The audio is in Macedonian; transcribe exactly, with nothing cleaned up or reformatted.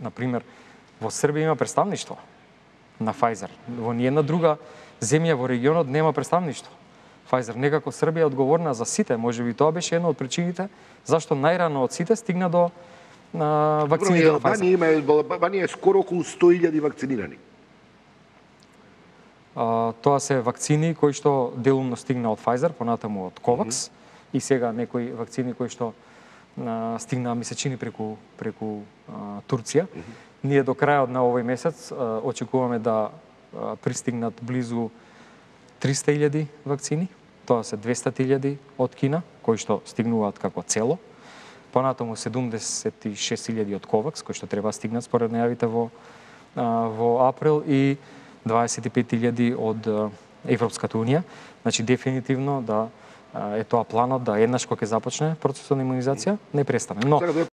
на пример, во Србија има представништво на Pfizer. Во ниедна друга земја во регионот нема представништво. Pfizer некако Србија е одговорна за сите, можеби тоа беше една од причините зашто најрано од сите стигна до на вакцините на Pfizer. Албанија има Албанија е скоро околу сто илјади вакцинирани. А, тоа се вакцини кои што делумно стигна од Pfizer, понатаму од Covax, mm -hmm. и сега некои вакцини кои што а, стигнаа ми се чини преку преку а, Турција. Mm -hmm. Ние до крајот на овој месец а, очекуваме да а, пристигнат близу триста илјади вакцини. Тоа се двесте илјади од Кина, кои што стигнуваат како цело. Понатаму седумдесет и шест илјади од Covax, кои што треба стигнат според најавите во а, во април, и дваесет и пет илјади од Европската унија. Значи дефинитивно да е тоа планот да еднаш кога ќе започне процесот на имунизација не престане. Но